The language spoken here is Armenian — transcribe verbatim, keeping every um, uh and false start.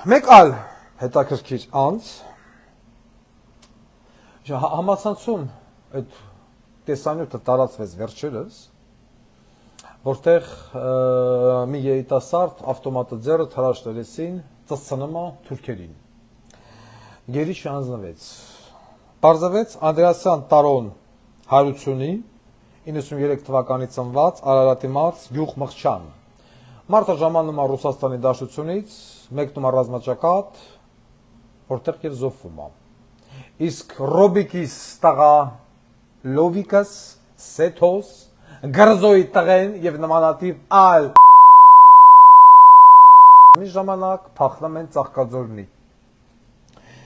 մեկ այլ հետաքրքիր անձ համացանցում այդ տեսանյութը տարածվեց վերջերս, որտեղ մի երիտասարդ ավտոմատը ձեռը հրաշ տվեցին ծծցնմա թուրքերին։ Գերի չհանձնվեց։ Պարզվեց Անդրեասյան Տարոն Հարությունի իննսուններեք թվականի ծնված Արարատի մարզ գյուղ Մղչան։ Մարդը ժամանում է Ռուսաստանի Դաշնությունից, մեկնում է ռազմաճակատ, որտեղ եւ զոհվում է։ Իսկ Ռոբիկիս տղա Լովիկս, Սեթոս, Գրզոյի տղեն եւ նմանատիպ այլ մի ժամանակ փախնում են Ծաղկաձորնի։